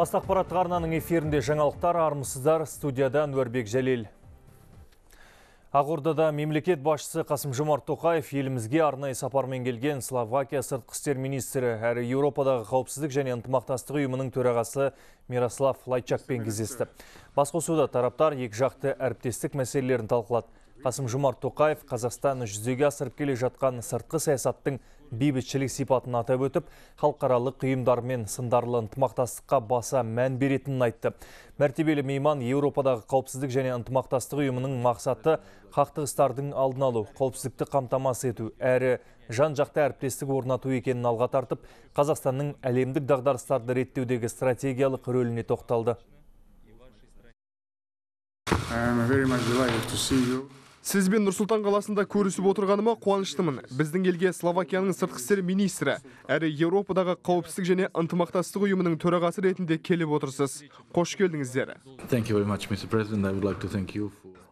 Басты ақпараттық арнаның эфирінде жаңалықтар, армысыздар, студияда Әнуарбек Жәлел. Ақордада мемлекет басшысы Қасым-Жомарт Тоқаев елімізге арнайы сапармен келген Словакия сыртқы істер министрі әрі Еуропадағы қауіпсіздік және ынтымақтастық ұйымының төрағасы Мирослав Лайчакпен кездесті. Басқосуда тараптар екіжақты әріптестік мәселелерін талқылады. Қасым-Жомарт Тоқаев Қазақстан жүзеге асырып келе жатқан сыртқы саясаттың бейбітшілік сипатын атап өтіп, халықаралық ұйымдармен сындарлы ынтымақтастыққа баса мән беретінін айтты. Мәртебелі мейман Еуропадағы қауіпсіздік және ынтымақтастық ұйымының мақсаты қақтығыстардың алдын алу, қауіпсіздікті қамтамасыз ету, әрі жан-жақты әріптестік орнату екенін алға тартып, Қазақстанның әлемдік дағдарыстарды реттеудегі стратегиялық рөліне тоқталды. Сізбен Нұр-Сұлтан қаласында көрісіп отырғаныма қуаныштымын. Біздің елге Словакияның сыртқы істер министрі, әрі Еуропадағы қауіпсіздік және ынтымақтастық ұйымының төрағасы ретінде келіп отырсыз. Қош келдіңіздер.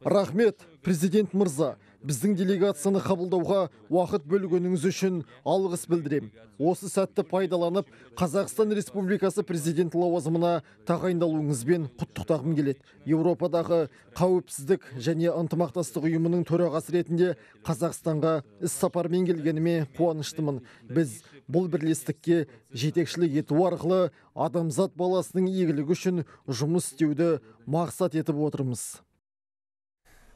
Рахмет, президент мырза. Біздің делегацияны қабылдауға уақыт бөлгеніңіз үшін алғыс білдірем. Осы сәтті пайдаланып, Қазақстан Республикасы президенті лауазымына тағайындалуыңызбен құттықтағым келеді. Еуропадағы қауіпсіздік және ынтымақтастық ұйымының төрағасы ретінде Қазақстанға іс-сапармен келгеніме қуаныштымын. Біз бұл бірлестікке жетекшілік ету арқылы адамзат баласының игілігі үшін жұмыс істеуді мақсат етіп отырмыз.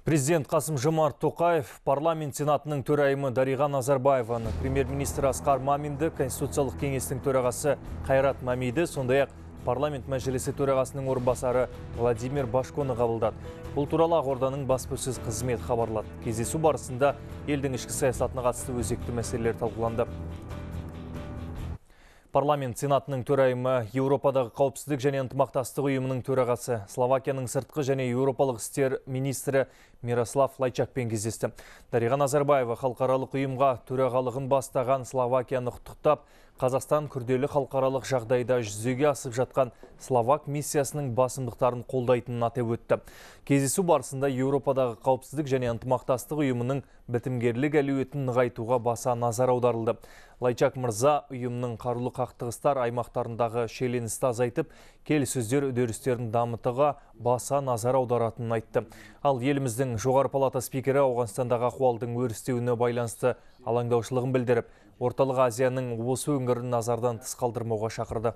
Президент Қасым-Жомарт Тоқаев парламент сенатының төрайымы Дариға Назарбаеваны, премьер-министр Асқар Маминді, Конституциялық кеңестің төрағасы Қайрат Мамиді, сондай-ақ парламент мәжілісі төрағасының орынбасары Владимир Башконы қабылдады. Бұл туралы Ақорданың баспасөз қызметі хабарлады. Кездесу барысында елдің ішкі саясатына қатысты өзекті мәселелер талқыланды. Парламент сенатының төрайымы Еуропадағы қауіпсіздік және ынтымақтастық ұйымының төрағасы Словакияның сыртқы және еуропалық істер министрі Мирослав Лайчакпен кездесті. Дариға Назарбаева халықаралық ұйымға төрағалығын бастаған Словакияны құттықтап, Қазақстан күрделі халықаралық жағдайда жүзеге асып жатқан Словак миссиясының басымдықтарын қолдайтынын атап өтті. Кездесу барысында Еуропадағы қауіпсіздік және ынтымақтастық ұйымының бітімгерлік әлеуетін нығайтуға баса назар аударылды. Лайчак мырза ұйымның қарулы қақтығыстар аймақтарындағы шиеленісті азайтып, келіссөздер үдерістерін дамытуға баса назар аударатынын айтты. Ал еліміздің жоғары палата спикері Ауғанстандағы ахуалдың өрістеуіне байланысты алаңдаушылығын білдіріп, Орталық Азияның осы өңірін назардан тыс қалдырмауға шақырды.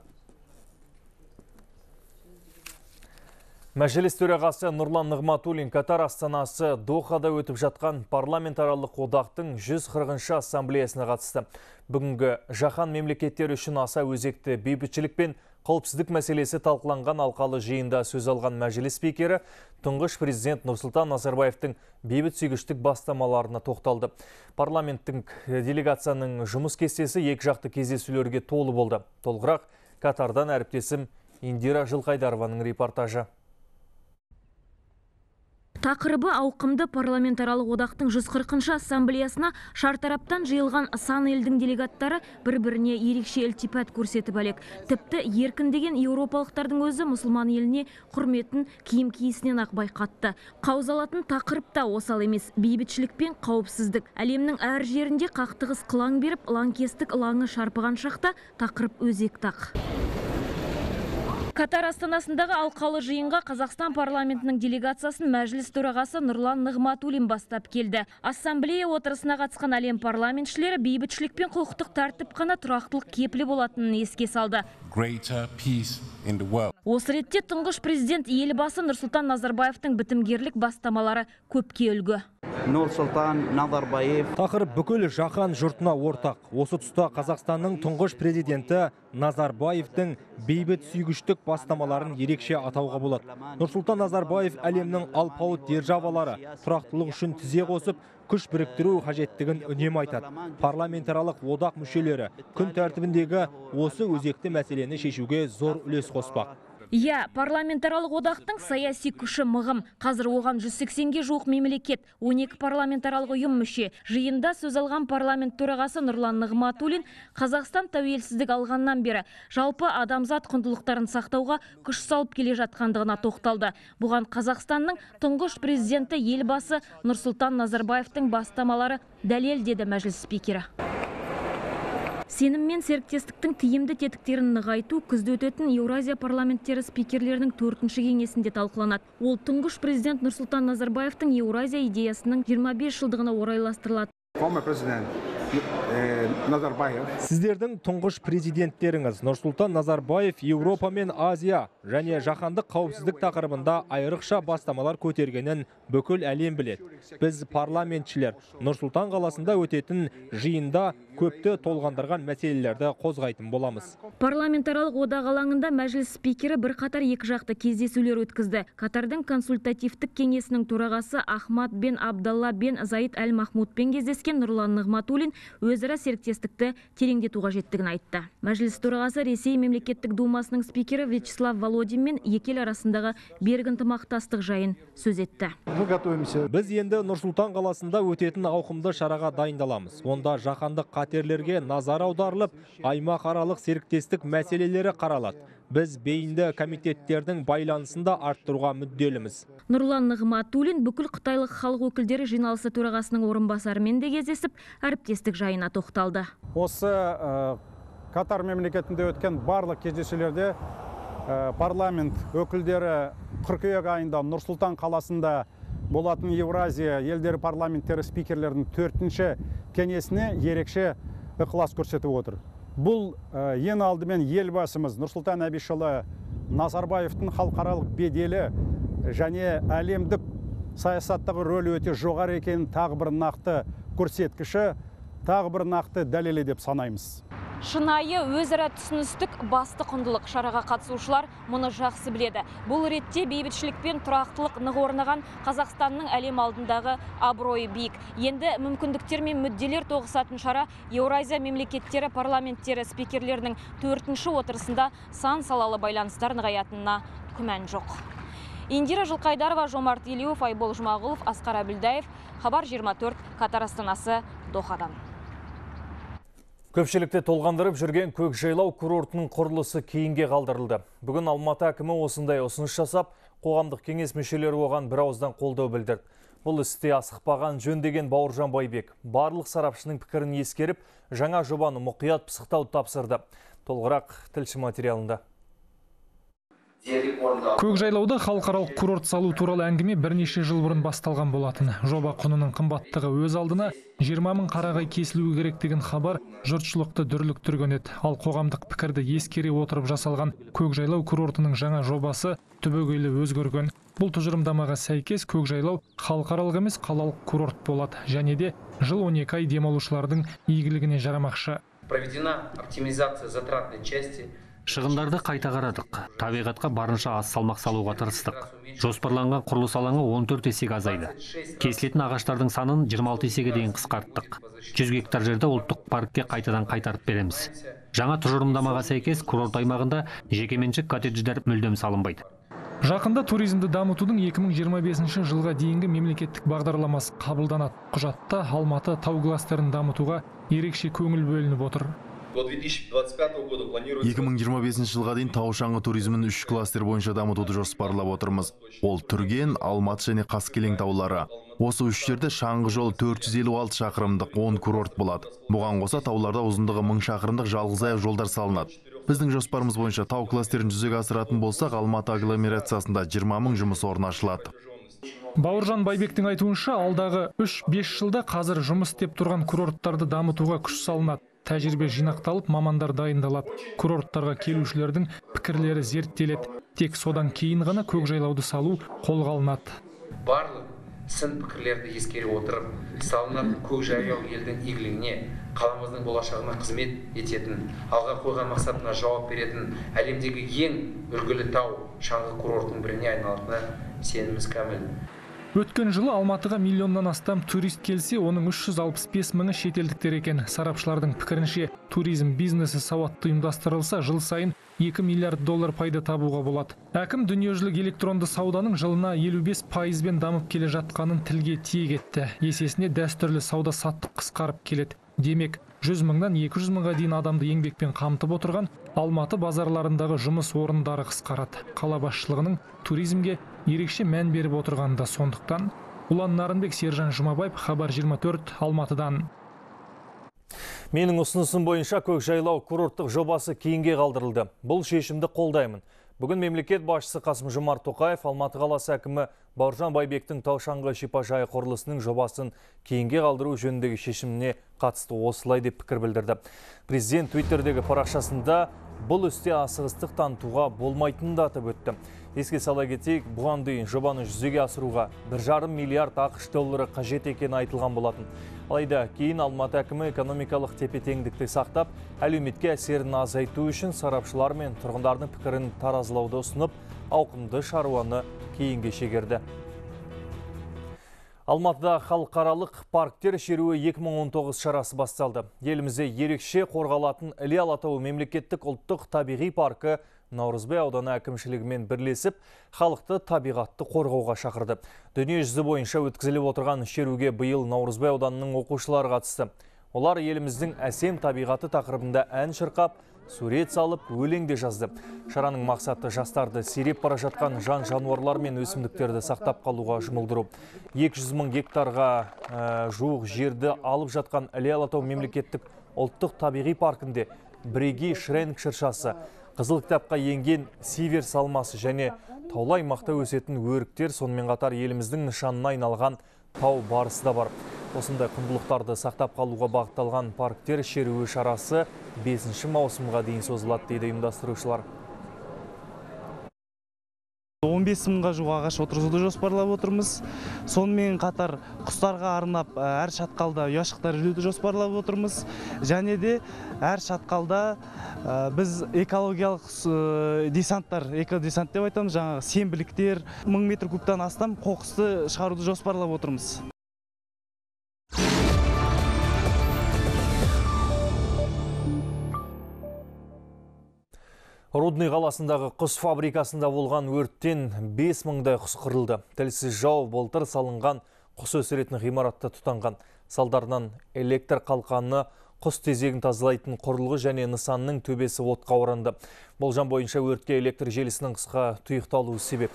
Мәжіліс төрағасы Нұрлан Нығматулин Катар астанасы Дохада өтіп жатқан парламентаралық одақтың 140-шы ассамблеясына қатысты. Бүгінгі жаһан мемлекеттері үшін аса өзекті бейбітшілік пен қауіпсіздік мәселесі талқыланған алқалы жиында сөз алған мәжіліс спикері тұңғыш президент Нұрсұлтан Назарбаевтың бейбітсүйгіштік бастамаларына тоқталды. Парламенттің делегацияның жұмыс кестесі екіжақты кездесулерге толы болды. Толығырақ Катардан әріптесім Индира Жылқайдарованың репортажы. Тақырыбы ауқымды парламентаралық одақтың 140-шы ассамблеясына шартараптан жиылған сан елдің делегаттары бір-біріне ерекше ілтипат көрсетіп әлек. Тіпті еркін деген еуропалықтардың өзі мұсылман еліне құрметін киім киісінен ақ байқатты. Қаузалатын тақырып та осал емес, бейбітшілік пен қауіпсіздік. Әлемнің әр жерінде қақтығыс қылаң беріп, лаңкестік лаңы шарпыған шақта тақырып өзекті ақ. Катар астанасындағы алқалы жиынға Қазақстан парламентінің делегациясын мәжіліс төрағасы Нұрлан Нығматулин бастап келді. Ассамблея отырысына қатысқан әлем парламентшілері бейбітшілік пен құқықтық тәртіп қана тұрақтылық кепілі болатынын еске салды. Осы ретте тұңғыш президент елбасы Нұрсұлтан Назарбаевтың бітімгерлік бастамалары көпке үлгі. Тақырып бүкіл жаһан жұртына ортақ. Осы тұста Қазақстанның тұңғыш президенті Назарбаевтың бейбіт сүйгіштік бастамаларын ерекше атауға болады. Нұрсұлтан Назарбаев әлемнің алпауыт державалары тұрақтылық үшін тізе қосып, күш біріктіру қажеттігін үнемі айтады. Парламентаралық одақ мүшелері күн тәртібіндегі осы өзекті мәселені шешуге зор үлес қоспақ. Парламентаралық одақтың саяси күші мығым. Қазір оған 180-ге жуық мемлекет, 12 парламентаралық ұйым мүше. Жиында сөз алған парламент төрағасы Нұрлан Нығматулин Қазақстан тәуелсіздік алғаннан бері жалпы адамзат құндылықтарын сақтауға күш салып келе жатқандығына тоқталды. Бұған Қазақстанның тұңғыш президенті елбасы Нұрсұлтан Назарбаевтың бастамалары дәлел, деді мәжіліс спикері. Сенім мен серіктестіктің тиімді тетіктерін нығайту күзде өтетін Еуразия парламенттері спикерлерінің 4-ші кеңесінде талқыланады. Ол тұңғыш президент Нұрсұлтан Назарбаевтың Еуразия идеясының 25 жылдығына орайластырылады. Сіздердің тұңғыш президенттеріңіз Нұрсұлтан Назарбаев Еуропа мен Азия және жаһандық қауіпсіздік тақырыбында айрықша бастамалар көтергенін бүкіл әлем біледі. Біз парламентшілер Нұрсұлтан қаласында өтетін жиында көпті толғандырған мәселелерді қозғайтын боламыз. Парламентаралық одақ алаңында мәжіліс спикері бірқатар екіжақты кездесулер өткізді. Катардың консультативтік кеңесінің төрағасы Ахмад бен Абдалла бен Заид әл Махмудпен кездескен Нұрлан Нығматулин өзара серіктестікті тереңдету қажеттігін айтты. Мәжіліс төрағасы Ресей мемлекеттік думасының спикері Вячеслав Володин мен екі ел арасындағы берік ынтымақтастық жайын сөз етті. Біз енді Нұрсұлтан қаласында өтетін ауқымды шараға дайындаламыз. Онда жаһандық қатерлерге назар аударылып, аймақаралық серіктестік мәселелері қаралады. Біз бейінді комитеттердің байланысында арттыруға мүдделіміз. Нұрлан Нығматулин бүкіл қытайлық халық өкілдері жиналысы төрағасының орынбасарымен де кездесіп, әріптестік жайына тоқталды. Осы Катар мемлекетінде өткен барлық кездесулерде парламент өкілдері қыркүйек айында Нұрсұлтан қаласында болатын Еуразия елдері парламенттері спикерлердің 4-ші кеңесіне ерекше ықылас көрсетіп отыр. Бұл ең алдымен елбасымыз Нұрсұлтан Әбішұлы Назарбаевтың халықаралық беделі және әлемдік саясаттағы рөлі өте жоғары екенін тағы бір нақты көрсеткіші, тағы бір нақты дәлелі деп санаймыз. Шынайы өзара түсіністік басты құндылық. Шараға қатысушылар мұны жақсы біледі. Бұл ретте бейбітшілік пен тұрақтылық нық орнаған Қазақстанның әлем алдындағы абыройы биік. Енді мүмкіндіктер мен мүдделер тоғысатын шара Еуразия мемлекеттері парламенттері спикерлерінің 4-ші отырысында сан салалы байланыстар нығаятынына күмән жоқ. Индира Жылқайдарова, Жомарт Елеуов, Айбол Жұмағұлов, Асқар Әбілдаев, Хабар 24, Катар астанасы Дохадан. Көпшілікті толғандырып жүрген Көкжайлау курортының құрылысы кейінге қалдырылды. Бүгін Алматы әкімі осындай ұсыныс жасап, қоғамдық кеңес мүшелері оған бір ауыздан қолдау білдірді. Бұл істе асықпаған жөн деген Бауыржан Байбек барлық сарапшының пікірін ескеріп, жаңа жобаны мұқият пысықтауды тапсырды. Толығырақ тілші материалында. Көкжайлауда халықаралық курорт салу туралы әңгіме бірнеше жыл бұрын басталған болатын. Жоба құнының қымбаттығы өз алдына 20 мың қарағай кесілуі керек деген хабар жұртшылықты дүрліктірген еді. Ал қоғамдық пікірді ескере отырып жасалған Көкжайлау курортының жаңа жобасы түбегейлі өзгерген. Бұл тұжырымдамаға сәйкес Көкжайлау халықаралық емес қалалық курорт болады және де жыл 12 ай демалушылардың игілігіне жарамақшы. Проведена оптимизация затратной части. Шығындарды қайта қарадық. Табиғатқа барынша аз салмақ салуға тырыстық. Жоспарланған құрылыс алаңы 14 есеге азайды. Кесілетін ағаштардың санын 26 есеге дейін қысқарттық. 100 гектар жерді ұлттық паркке қайтадан қайтарып береміз. Жаңа тұжырымдамаға сәйкес курорт аймағында жекеменшік коттедждер мүлдем салынбайды. Жақында туризмді дамытудың 2025 жылға дейінгі мемлекеттік бағдарламасы қабылданады. Құжатта Алматы тау кластерін дамытуға ерекше көңіл бөлініп отыр. 2025 жылға дейін тау-шаңғы туризмін 3 кластер бойынша дамытуды жоспарлап отырмыз. Ол Түрген, Алматы және Қаскелең таулары. Осы үш жерде шаңғы жолы 456 шақырымдық 10 курорт болады. Бұған қоса тауларда ұзындығы 1000 шақырымдық жалғызаяқ жолдар салынады. Біздің жоспарымыз бойынша тау кластерін жүзеге асыратын болсақ, Алматы агломерациясында 20 мың жұмыс орны ашылады. Бауыржан Байбектің айтуынша, алдағы 3-5 жылда қазір жұмыс істеп тұрған курорттарды дамытуға күш салынады. Тәжірибе жинақталып, мамандар дайындалады. Курорттарға келушілердің пікірлері зерттеледі. Тек содан кейін ғана Көкжайлауды салу қолға алынады. Барлық сын пікірлерді ескере отырып, салынатын Көкжайлау елдің игілігіне, қаламыздың болашағына қызмет ететін, алға қойған мақсатына жауап беретін, әлемдегі ең үлгілі тау шаңғы курортының біріне айналатынына сеніміміз кәміл. Өткен жылы Алматыға миллионнан астам турист келсе, оның 365 мыңы шетелдіктер екен. Сарапшылардың пікірінше, туризм бизнесі сауатты ұйымдастырылса, жыл сайын 2 миллиард доллар пайда табуға болады. Әкім дүниежүзілік электронды сауданың жылына 55% дамып келе жатқанын тілге тиек етті. Есесіне дәстүрлі сауда саттық қысқарып келеді. Демек, 100 мыңнан 200 мыңға дейін адамды еңбекпен қамтып отырған Алматы базарларындағы жұмыс орындары қысқарады. Қала басшылығының туризмге ерекше мән беріп отырғаны да сондықтан. Ұлан Нарынбек, Сержан Жұмабаев, Хабар 24, Алматыдан. Менің ұсынысым бойынша көкжайлау курорттық жобасы кейінге қалдырылды. Бұл шешімді қолдаймын. Бүгін мемлекет басшысы Қасым-Жомарт Тоқаев Алматы қаласы әкімі Бауыржан Байбектің тау-шаңғы шипажайы құрылысының жобасын кейінге қалдыру жөніндегі шешіміне қатысты осылай деп пікір білдірді. Президент Твиттердегі парақшасында бұл істе асығыстық танытуға болмайтынын да атап өтті. Еске сала кетейік, бұған дейін жобаны жүзеге асыруға 1,5 миллиард ақш доллары қажет екені айтылған болатын. Алайда кейін Алматы әкімі экономикалық тепе-теңдікті сақтап, әлеуметке әсерін азайту үшін сарапшылар мен тұрғындардың пікірін таразылауды ұсынып, ауқымды шаруаны кейінге шегерді. Алматыда халықаралық парктер шеруі 2019 шарасы басталды. Елімізде ерекше қорғалатын Іле Алатауы мемлекеттік ұлттық табиғи паркі Наурызбай ауданы әкімшілігімен бірлесіп, халықты табиғатты қорғауға шақырды. Дүние жүзі бойынша өткізіліп отырған шеруге биыл Наурызбай ауданының оқушылары қатысты. Олар еліміздің әсем табиғаты тақырыбында ән шырқап, сурет салып, өлең де жазды. Шараның мақсаты жастарды сиреп бара жатқан жан-жануарлар мен өсімдіктерді сақтап қалуға жұмылдыру. 200 мың гектарға жуық жерді алып жатқан Іле Алатау мемлекеттік ұлттық табиғи паркінде бірегей шренк шыршасы, Қызыл кітапқа енген сивер салмасы және таулы аймақта өсетін өріктер, сонымен қатар еліміздің нышанына айналған тау барысы да бар. Осындай құндылықтарды сақтап қалуға бағытталған парктер шеруі шарасы 5 маусымға дейін созылады дейді ұйымдастырушылар. 15 мыңға жуық ағаш отырғызуды жоспарлап отырмыз. Сонымен қатар құстарға арнап әр шатқалда ұяшықтар жүруді жоспарлап отырмыз. Және де әр шатқалда біз экологиялық десанттар, экодесант деп айтамыз, жаңағы сенбіліктер, 1000 метр кубтан астам қоқысты шығаруды жоспарлап отырмыз. Рудный қаласындағы құс фабрикасында болған өрттен 5000-дай құс қырылды. Тілсіз жау былтыр салынған құс өсіретін ғимаратта тұтанған. Салдарынан электр қалқаны, құс тезегін тазалайтын құрылғы және нысанның төбесі отқа оранды. Болжам бойынша өртке электр желісінің қысқа тұйықталуы себеп.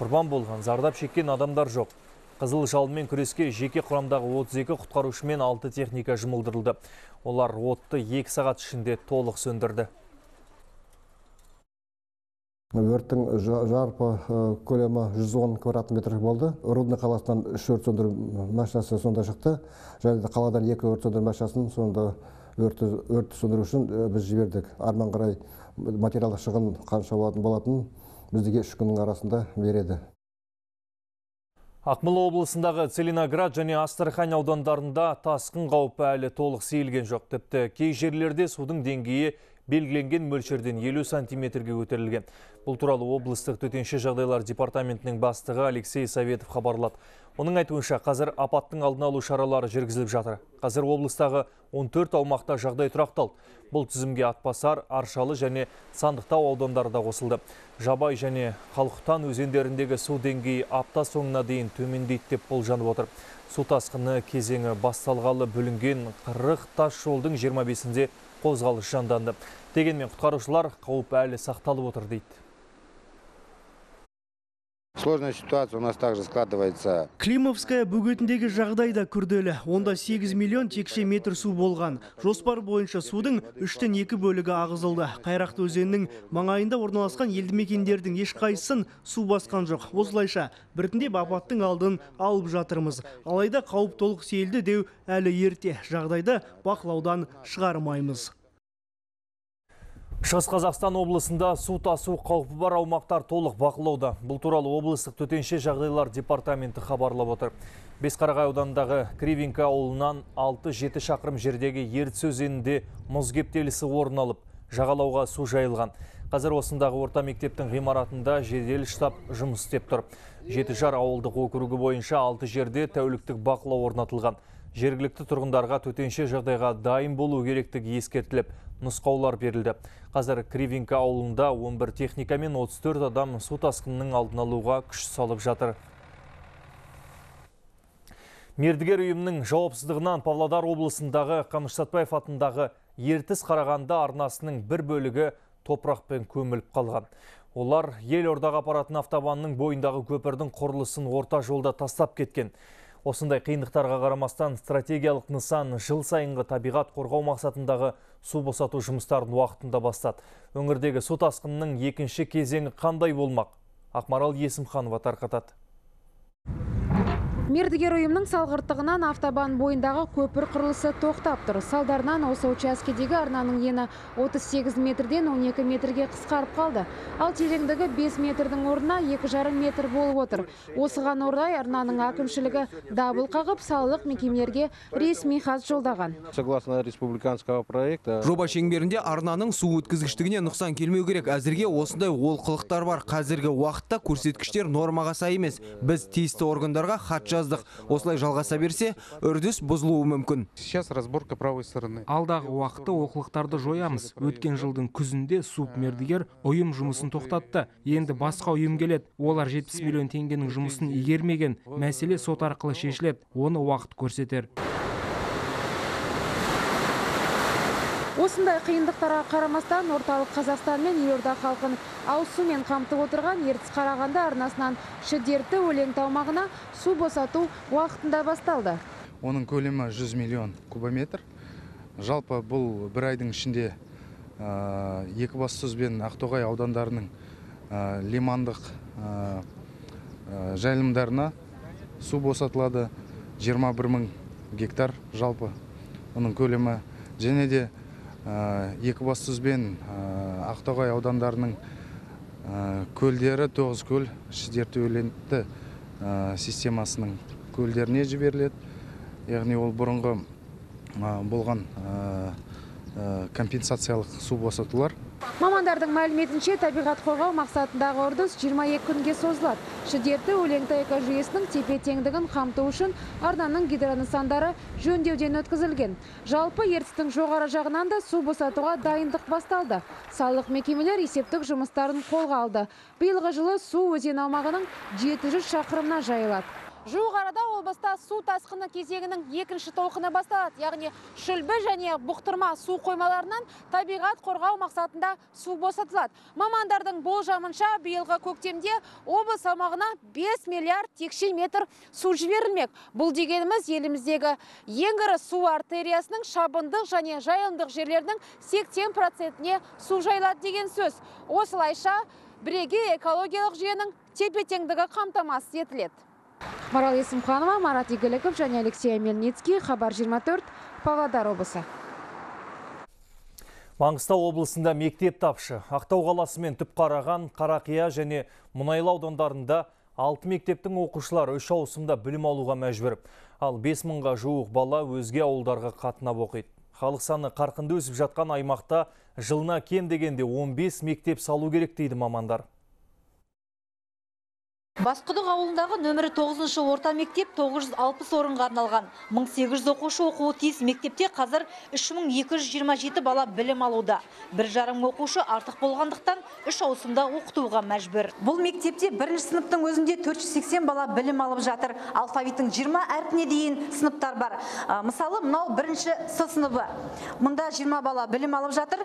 Құрбан болған, зардап шеккен адамдар жоқ. Қызыл жалынмен күреске жеке құрамдағы 32 құтқарушы мен 6 техника жұмылдырылды. Олар отты 2 сағат ішінде толық сөндірді. Өрттің жарпы көлемі 110 квадрат метр болды. Рудный қаласынан 3 өрт сөндіру машинасы сонда шықты. Және де қаладан 2 өрт сөндіру машинасын сонда өртті сөндіру үшін біз жібердік. Арман қарай материалдық шығын қанша болатын біздіге 3 күннің арасында береді. Ақмола облысындағы Целиноград және Астрахань аудандарында тасқын қаупі әлі толық сейілген жоқ. Тіпті кей жерлерде судың деңгейі белгіленген мөлшерден 50 сантиметрге көтерілген. Бұл туралы облыстық төтенше жағдайлар департаментінің бастығы Алексей Советов хабарлады. Оның айтуынша, қазір апаттың алдын алу шаралары жүргізіліп жатыр. Қазір облыстағы 14 аумақта жағдай тұрақталды. Бұл тізімге Атбасар, Аршалы және Сандықтау аудандары да қосылды. Жабай және Қалқұтан өзендеріндегі су деңгейі апта соңына дейін төмендейді деп болжанып отыр. Су тасқыны кезеңі басталғалы бүлінген 40 тас жолдың 25-інде қозғалыс жанданды. Дегенмен құтқарушылар қауіп әлі сақталып отыр дейді. Сложная ситуация у нас также складывается. Климовская бөгетіндегі жағдай да күрделі. Онда 8 миллион текше метр су болған. Жоспар бойынша судың 3-тен 2 бөлігі ағызылды. Қайрақты өзенінің маңайында орналасқан елді мекендердің ешқайсысын су басқан жоқ. Осылайша біртіндеп апаттың алдын алып жатырмыз. Алайда қауіп толық сейілді деу әлі ерте. Жағдайды бақылаудан шығармаймыз. Шығыс Қазақстан облысында су тасу қаупі бар аумақтар толық бақылауда. Бұл туралы облыстық төтенше жағдайлар департаменті хабарлап отыр. Бесқарағай ауданындағы Кривинка ауылынан 6-7 шақырым жердегі Ертіс өзенінде мұз кептелісі орын алып, жағалауға су жайылған. Қазір осындағы орта мектептің ғимаратында жедел штаб жұмыс істеп тұр. Жетіжар ауылдық округі бойынша 6 жерде тәуліктік бақылау орнатылған. Жергілікті тұрғындарға төтенше жағдайға дайын болу керектігі ескертіліп, нұсқаулар берілді. Қазір Кривинка ауылында 11 техника мен 34 адам су тасқынының алдын алуға күш салып жатыр. Мердігер ұйымның жауапсыздығынан Павлодар облысындағы Қаныш Сәтпаев атындағы Ертіс Қарағанды арнасының бір бөлігі топырақпен көміліп қалған. Олар Елордаға апаратын автобанның бойындағы көпірдің құрылысын орта жолда тастап кеткен. Осындай қиындықтарға қарамастан стратегиялық нысан жыл сайынғы табиғат қорғау мақсатындағы су босату жұмыстарын уақытында бастады. Өңірдегі су тасқынының екінші кезеңі қандай болмақ? Ақмарал Есімханова тарқатады. Мердігер ұйымның салғырттығынан автобан бойындағы көпір құрылысы тоқтап тұр. Салдарынан осы учаскедегі арнаның ені 38 метрден 12 метрге қысқарып қалды. Ал тереңдігі 5 метрдің орнына 2,5 метр болып отыр. Осыған орай арнаның әкімшілігі дабыл қағып, салалық мекемелерге ресми хат жолдаған. Согласно республиканского проекта, жоба шеңберінде арнаның су өткізгіштігіне нұқсан келмеу керек. Әзірге осындай олқылықтар бар. Қазіргі уақытта көрсеткіштер нормаға сай емес. Біз тиісті органдарға хат жаздық. Осылай жалғаса берсе, үрдіс бұзылуы мүмкін. Сейчас разборка правой стороны. Алдағы уақытта олқылықтарды жоямыз. Өткен жылдың күзінде субмердігер ұйым жұмысын тоқтатты. Енді басқа ұйым келеді. Олар 70 миллион теңгенің жұмысын игермеген. Мәселе сот арқылы шешіледі. Оны уақыт көрсетер. Осындай қиындықтарға қарамастан орталық Қазақстан мен елорда халқын ауыз сумен қамтып отырған Ертіс Қарағанды арнасынан Шідерті Өлеңті аумағына су босату уақытында басталды. Оның көлемі 100 миллион кубометр. Жалпы бұл бір айдың ішінде Екібастұз бен Ақтоғай аудандарының лимандық жайылымдарына су босатылады. 21 мың гектар жалпы оның көлемі. Және де Екібастұз бен Ақтоғай аудандарының көлдері 9 көл Шідерті Өлеңті системасының көлдеріне жіберіледі. Яғни ол бұрынғы болған компенсациялық су босатулар. Мамандардың мәліметінше табиғат қорғау мақсатындағы үрдіс 22 күнге созылады. Шідерті Өлеңті экожүйесінің тепе-теңдігін қамту үшін арнаның гидронысандары жөндеуден өткізілген. Жалпы ертістің жоғары жағынан да су босатуға дайындық басталды. Салалық мекемелер есептік жұмыстарын қолға алды. Биылғы жылы су өзен аумағының 700 шақырымына жайылады. Жуық арада облыста су тасқыны кезеңінің екінші толқыны басталады. Яғни Шүлбі және Бұқтырма су қоймаларынан табиғат қорғау мақсатында су босатылады. Мамандардың болжамынша биылғы көктемде облыс аумағына 5 миллиард текше метр су жіберілмек. Бұл дегеніміз еліміздегі ең ірі су артериясының шабындық және жайылымдық жерлерінің 80%-не су жайылады деген сөз. Осылайша бірегей экологиялық жүйенің тепе-теңдігі қамтамасыз етіледі. Ақмарал Есімханова, Марат Игіліков және Алексей Мельницкий, Хабар 24, Павлодар облысы. Маңғыстау облысында мектеп тапшы. Ақтау қаласы мен Түпқараған, Қарақия және Мұнайлы аудандарында 6 мектептің оқушылары 3 ауысымда білім алуға мәжбүр. Ал 5 мыңға жуық бала өзге ауылдарға қатынап оқиды. Халық саны қарқынды өсіп жатқан аймақта жылына кем дегенде 15 мектеп салу керек дейді мамандар. Басқұдық ауылындағы нөмірі 9-шы орта мектеп 960 орынға арналған. 1800 оқушы оқуы тиіс мектепте қазір 3227 бала білім алуда. 1,5 оқушы артық болғандықтан 3 ауысымда оқытуға мәжбүр. Бұл мектепте бірінші сыныптың өзінде 480 бала білім алып жатыр. Алфавиттің 20 әрпіне дейін сыныптар бар. Мысалы, мынау бірінші С сыныбы. Мұнда 20 бала білім алып жатыр.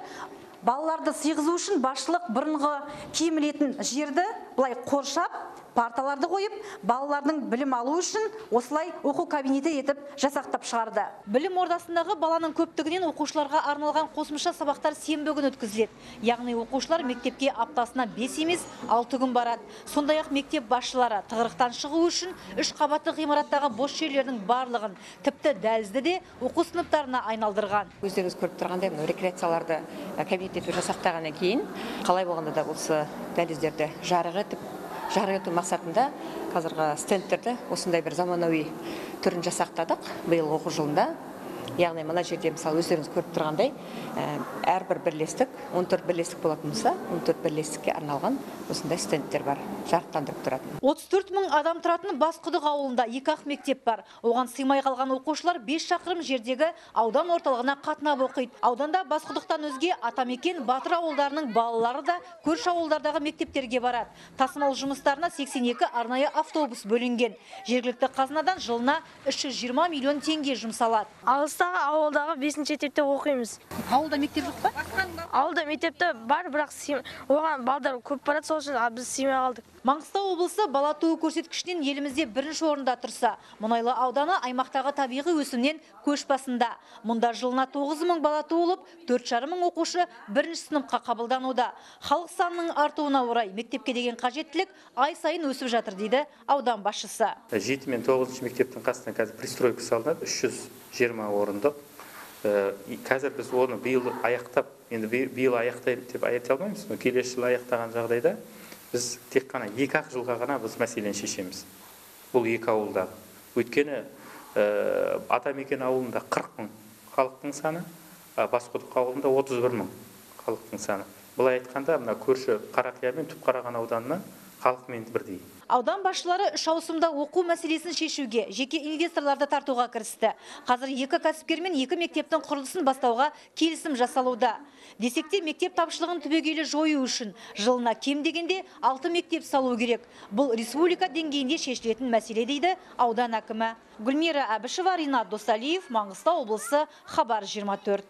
Балаларды сыйғызу үшін басшылық бұрынғы киім ілетін жерді бұлай қоршап, парталарды қойып, балалардың білім алу үшін осылай оқу кабинеті етіп жасақтап шығарды. Білім ордасындағы баланың көптігінен оқушыларға арналған қосымша сабақтар сенбі күні өткізіледі. Яғни оқушылар мектепке аптасына 5 емес 6 күн барады. Сондай-ақ мектеп басшылары тығырықтан шығу үшін 3 қабатты ғимараттағы бос жерлердің барлығын, тіпті дәлізді де оқу сыныптарына айналдырған. Өздеріңіз көріп тұрғандай, рекреацияларды кабинет етіп жасақтағаннан кейін, қалай болғанда да осы дәліздерді жарық ету мақсатында қазіргі стендтерді осындай бір заманауи түрін жасақтадық биыл оқу жылында. Яғни мына жерде мысалы өздеріңіз көріп тұрғандай, әрбір бірлестік, 14 бірлестік болатын болса, 14 бірлестікке арналған осындай стендтер бар, жарықтандырып тұратын. 34 мың адам тұратын Басқұдық ауылында 2 мектеп бар. Оған сыймай қалған оқушылар 5 шақырым жердегі аудан орталығына қатынап оқиды. Ауданда Басқұдықтан өзге Атамекен, Батыр ауылдарының балалары да көрші ауылдардағы мектептерге барады. Тасымал жұмыстарына 82 арнайы автобус бөлінген. Жергілікті қазынадан жылына 320 миллион теңге жұмсалады. Алыста Мысалға ауылдағы 5-ші мектепте оқимыз. Ауылда мектеп жоқ па? Ауылда мектепте бар, бірақ оған балдар көп барады, сол үшін біз сыймай қалдық. Маңғыстау облысы бала туу көрсеткішінен елімізде бірінші орында тұрса, Мұнайлы ауданы аймақтағы табиғи өсімнен көш басында. Мұнда жылына 9.000 бала туылып, 4.500 оқушы бірінші сыныпқа қабылдануда. Халық санының артуына орай мектепке деген қажеттілік ай сайын өсіп жатыр дейді аудан басшысы. 7 мен 9 мектептің қасына қазір пристройка салынады, 320 орындық. Қазір біз оны биыл аяқтап, енді биыл аяқтайды деп айта алмаймыз, но келесі жылы аяқтаған жағдайда біз тек қана 2-ақ жылға ғана біз мәселені шешеміз. Бұл 2 ауылдағы. Өйткені Атамекен ауылында 40 000 халықтың саны, Басқұдық ауылында 31 000 халықтың саны. Бұлай айтқанда, мына көрші Қарақия мен Түпқараған ауданына халықмен бірдей. Аудан басшылары 3 ауысымда оқу мәселесін шешуге, жеке инвесторларды тартуға кірісті. Қазір 2 кәсіпкер мен 2 мектептің құрылысын бастауға келісім жасалуда. Десекте мектеп тапшылығын түбегейлі жою үшін жылына кем дегенде 6 мектеп салу керек. Бұл республика деңгейінде шешілетін мәселе дейді аудан әкімі. Гүлмира Әбішева, Ринат Досалиев, Маңғыстау облысы, Хабар 24.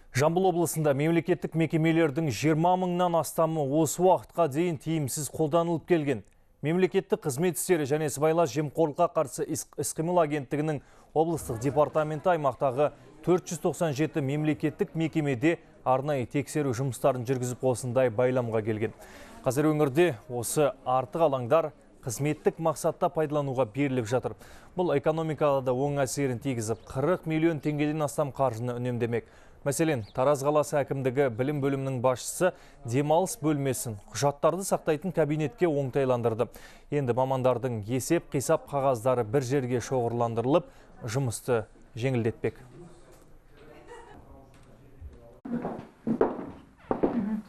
Жамбыл облысында мемлекеттік мекемелердің 20 000-нан астамы осы уақытқа дейін тиімсіз қолданылып келген. Мемлекеттік қызмет істері және сыбайлас жемқорлыққа қарсы іс-қимыл агенттігінің облыстық департаменті аймақтағы 497 мемлекеттік мекемеде арнайы тексеру жұмыстарын жүргізіп осындай байламға келген. Қазір өңірде осы артық алаңдар қызметтік мақсатта пайдалануға беріліп жатыр. Бұл экономикаға да оң әсерін тигізіп, 40 миллион теңгеден астам қаржыны үнемдемек. Мәселен, Тараз қаласы әкімдігі білім бөлімінің басшысы демалыс бөлмесін құжаттарды сақтайтын кабинетке оңтайландырды. Енді мамандардың есеп қисап қағаздары бір жерге шоғырландырылып, жұмысты жеңілдетпек.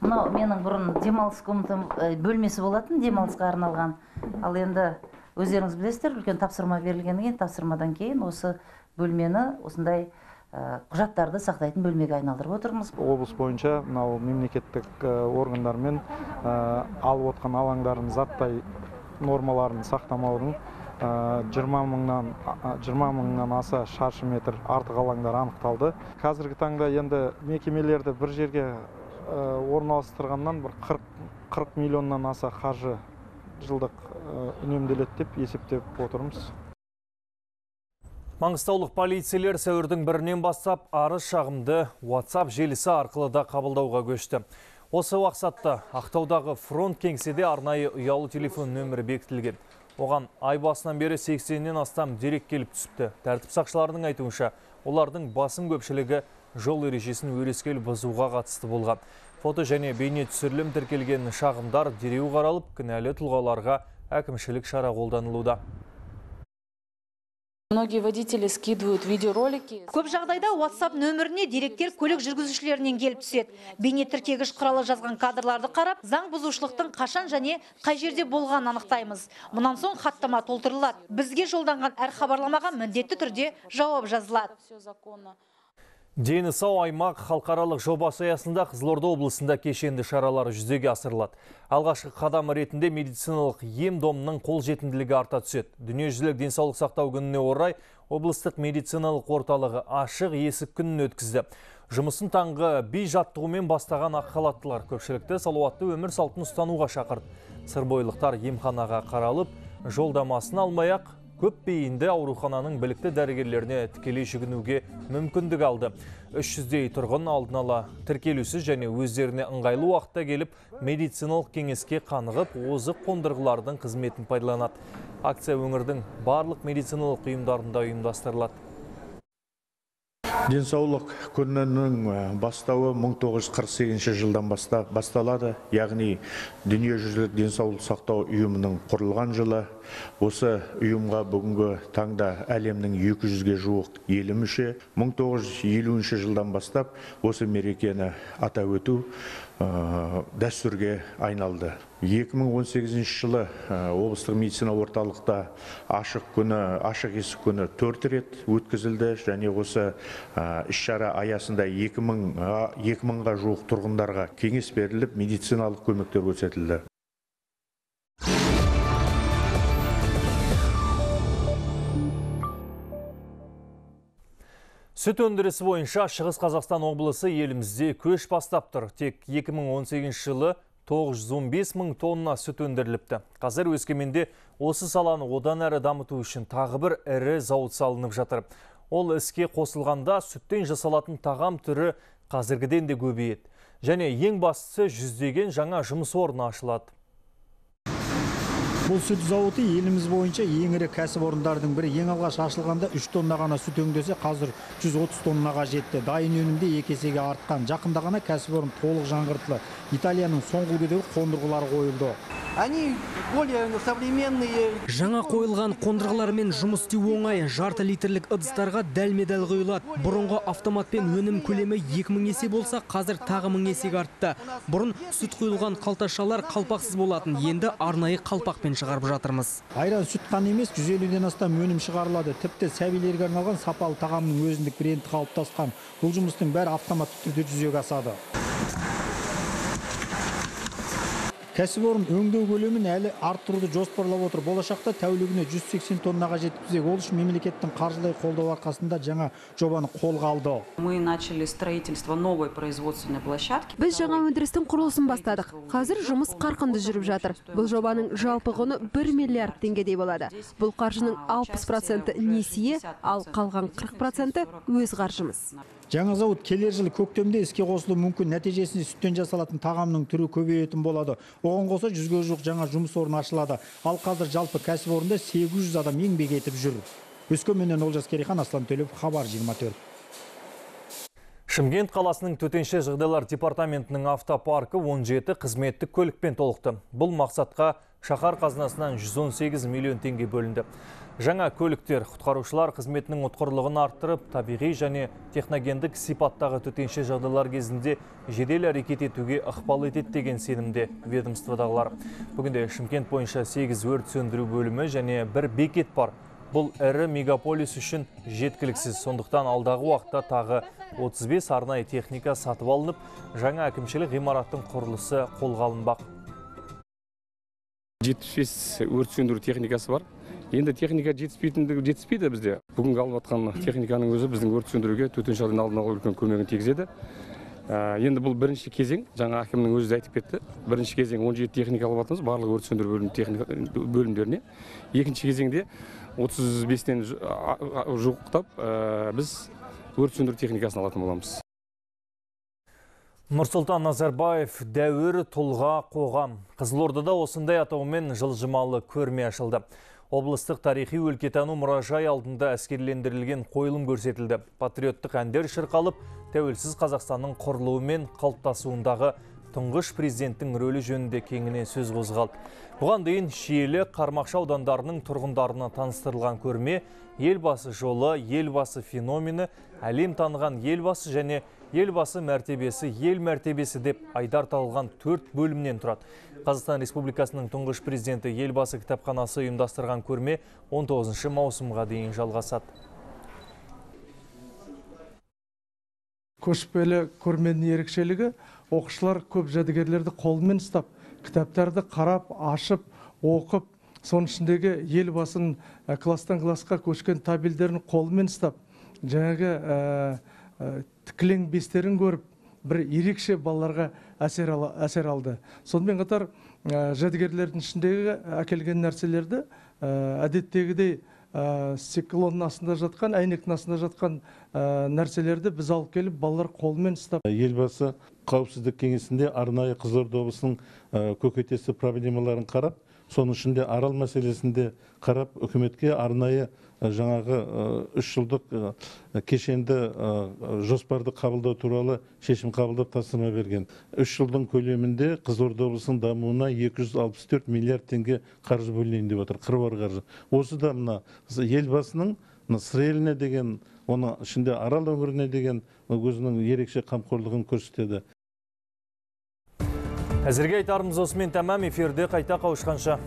Мынау менің бұрын демалыс комнатам бөлмесі болатын, демалысқа арналған. Ал енді өздеріңіз білесіздер, үлкен тапсырма берілгеннен кейін, тапсырмадан кейін осы бөлмені осындай құжаттарды сақтайтын бөлмеге айналдырып отырмыз. Облыс бойынша мынау мемлекеттік органдармен алып отқан алаңдардың заттай нормаларын сақтамаудың 20 000-нан аса шаршы метр артық алаңдар анықталды. Қазіргі таңда енді мекемелерді бір жерге орналастырғаннан 40 миллионнан аса қаржы жылдық үнемделеді деп есептеп отырмыз. Маңғыстаулық полицейлер сәуірдің 1-нен бастап арыз шағымды WhatsApp желісі арқылы да қабылдауға көшті. Осы мақсатта Ақтаудағы фронт кеңседе арнайы ұялы телефон нөмірі бекітілген. Оған ай басынан бері 80-нен астам дерек келіп түсіпті. Тәртіп сақшыларының айтуынша, олардың басым көпшілігі жол ережесін өрескел бұзуға қатысты болған. Фото және бейне түсірілім тіркелген шағымдар дереу қаралып, кінәлі тұлғаларға әкімшілік шара қолданылуда. Многие водители скидывают видеоролики. Көп жағдайда WhatsApp нөміріне деректер көлік жүргізушілерінен келіп түседі. Бейне тіркегіш құралы жазған кадрларды қарап, заң бұзушылықтың қашан және қай жерде болған анықтаймыз. Мұнан соң хаттама толтырылады. Бізге жолданған әр хабарламаға міндетті түрде жауап жазылады. Дені сау аймақ халықаралық жобасы аясында Қызылорда облысында кешенді шаралары жүзеге асырылады. Алғашқы қадам ретінде медициналық ем-домның қолжетімділігі арта түседі. Дүниежүзілік денсаулық сақтау күніне орай облыстық медициналық орталығы ашық есік күнін өткізді. Жұмысын таңғы би жаттығумен бастаған ақ халаттылар көпшілікті салауатты өмір салтын ұстануға шақырды. Сырбойлықтар емханаға қаралып, жолдамасын алмай-ақ көп бейінді аурухананың білікті дәрігерлеріне тікелей жүгінуге мүмкіндік алды. 300-дей тұрғын алдын ала тіркелусіз және өздеріне ыңғайлы уақытта келіп, медициналық кеңеске қанығып, озық қондырғылардың қызметін пайдаланады. Акция өңірдің барлық медициналық ұйымдарында ұйымдастырылады. Денсаулық күнінің бастауы 1948 жылдан басталады, яғни дүниежүзілік денсаулық сақтау ұйымының құрылған жылы. Осы ұйымға бүгінгі таңда әлемнің 200-ге жуық елі мүше. 1950 жылдан бастап осы мерекені атап өту дәстүрге айналды. 2018 жылы облыстық медицина орталықта ашық есік күні 4 рет өткізілді және осы іс-шара аясында 2000-ға жуық тұрғындарға кеңес беріліп, медициналық көмектер көрсетілді. Сүт өндірісі бойынша Шығыс Қазақстан облысы елімізде көш бастап тұр. Тек 2018 жылы 915 мың тонна сүт өндіріліпті. Қазір Өскеменде осы саланы одан әрі дамыту үшін тағы бір ірі зауыт салынып жатыр. Ол іске қосылғанда сүттен жасалатын тағам түрі қазіргіден де көбейеді. Және ең бастысы жүздеген жаңа жұмыс орны ашылады. Бұл сүт зауыты еліміз бойынша ең ірі кәсіпорындардың бірі. Ең алғаш ашылғанда 3 тонна ғана сүт өңдесе, қазір 130 тоннаға жетті. Дайын өнімде 2 есеге артқан. Жақында ғана кәсіпорын толық жаңғыртылды. Италияның соңғы үлгідегі қондырғылары қойылды. Они более современные. Жаңа қойылған қондырғылармен жұмыс істеу оңай. Жарты литрлік ыдыстарға дәлме-дәл құйылады. Бұрынғы автоматпен өнім көлемі 2000 есе болса, қазір тағы 1000 есеге артты. Бұрын сүт құйылған қалташалар қалпақсыз болатын. Енді арнайы қалпақпен шығарып жатырмыз. Айран сүт қана емес, 150-ден астам өнім шығарылады. Тіпті сәбилерге арналған сапалы тағамның өзіндік бренді қалыптасқан. Бұл жұмыстың бәрі автоматты түрде жүзеге асады. Кәсіпорын өңдеу көлемін әлі арттыруды жоспарлап отыр. Болашақта тәулігіне 180 тоннаға жеткізбек. Ол үшін мемлекеттің қаржылай қолдау арқасында жаңа жобаны қолға алды. Мы начали строительство новой производственной площадки. Біз жаңа өндірістің құрылысын бастадық. Қазір жұмыс қарқынды жүріп жатыр. Бұл жобаның жалпы құны 1 миллиард теңгедей болады. Бұл қаржының 60% несие, ал қалған 40% өз қаржымыз. Жаңа зауыт келер жылы көктемде іске қосылуы мүмкін. Нәтижесінде сүттен жасалатын тағамның түрі көбейетін болады. Оған қоса 100-ге жуық жаңа жұмыс орны ашылады. Ал қазір жалпы кәсіпорында 800 адам еңбек етіп жүр. Өскеменнен Олжас Керейхан, Аслан Төлепов, Хабар 24. Шымкент қаласының төтенше жағдайлар департаментінің автопаркі 17 қызметтік көлікпен толықты. Бұл мақсатқа шаһар қазынасынан 118 миллион теңге бөлінді. Жаңа көліктер құтқарушылар қызметінің ұтқырлығын арттырып, табиғи және техногендік сипаттағы төтенше жағдайлар кезінде жедел әрекет етуге ықпал етеді деген сенімде ведомстводағылар. Бүгінде Шымкент бойынша 8 өрт сөндіру бөлімі және 1 бекет бар. Бұл ірі мегаполис үшін жеткіліксіз. Сондықтан алдағы уақытта тағы 35 арнайы техника сатып алынып, жаңа әкімшілік ғимараттың құрылысы қолға алынбақ. 75 өрт сөндіру техникасы бар. Енді техника жетіспейді бізде. Бүгінгі алып атқан техниканың өзі біздің өрт сөндіруге төтенше жағдайдың алдын алуға үлкен көмегін тигізеді. Енді бұл бірінші кезең, жаңа әкімнің өзі айтып кетті. Бірінші кезең 17 техника алып атырмыз барлық өрт сөндіру бөлімдеріне. Екінші кезеңде 35-тен жуықтап біз өрт сөндіру техникасын алатын боламыз. Нұрсұлтан Назарбаев дәуір тұлға қоғам. Қызылордада осындай атаумен жылжымалы көрме ашылды. Облыстық тарихи өлкетану мұражай алдында әскерлендірілген қойылым көрсетілді. Патриоттық әндер шырқалып, тәуелсіз Қазақстанның құрылуы мен қалыптасуындағы тұңғыш президенттің рөлі жөнінде кеңінен сөз қозғалды. Бұған дейін Шиелі, Қармақшы аудандарының тұрғындарына таныстырылған көрме елбасы жолы, елбасы феномені, әлем таныған елбасы және елбасы мәртебесі, ел мәртебесі деп айдар тағылған 4 бөлімнен тұрады. Қазақстан Республикасының тұңғыш президенті елбасы кітапханасы ұйымдастырған көрме 19 маусымға дейін жалғасады. Көшпелі көрменің ерекшелігі, оқушылар көп жәдігерлерді қолмен ұстап, кітаптарды қарап, ашып, оқып, соның ішіндегі елбасының класстан классқа көшкен табелдерін қолмен ұстап, жаңағы тікілең бестерін көріп, бір ерекше балаларға әсер алды. Сонымен қатар жәдігерлердің ішіндегі әкелген нәрселерді әдеттегідей стеклонның астында жатқан, әйнектің астында жатқан нәрселерді біз алып келіп, балалар қолмен ұстап. Елбасы қауіпсіздік кеңесінде арнайы Қызылорда облысының көкейтесті проблемаларын қарап, соның ішінде арал мәселесінде қарап, үкіметке арнайы жаңағы 3 жылдық кешенді жоспарды қабылдау туралы шешім қабылдап тапсырма берген. 3 жылдың көлемінде Қызылорда облысының дамуына 264 миллиард теңге қаржы бөлінейін деп отыр, қыруар қаржы. Осы да мына елбасының сыр еліне деген, оның ішінде арал өңіріне деген өзінің ерекше қамқорлығын көрсетеді. Әзірге айтарымыз осымен тәмам, эфирде қайта қауышқанша.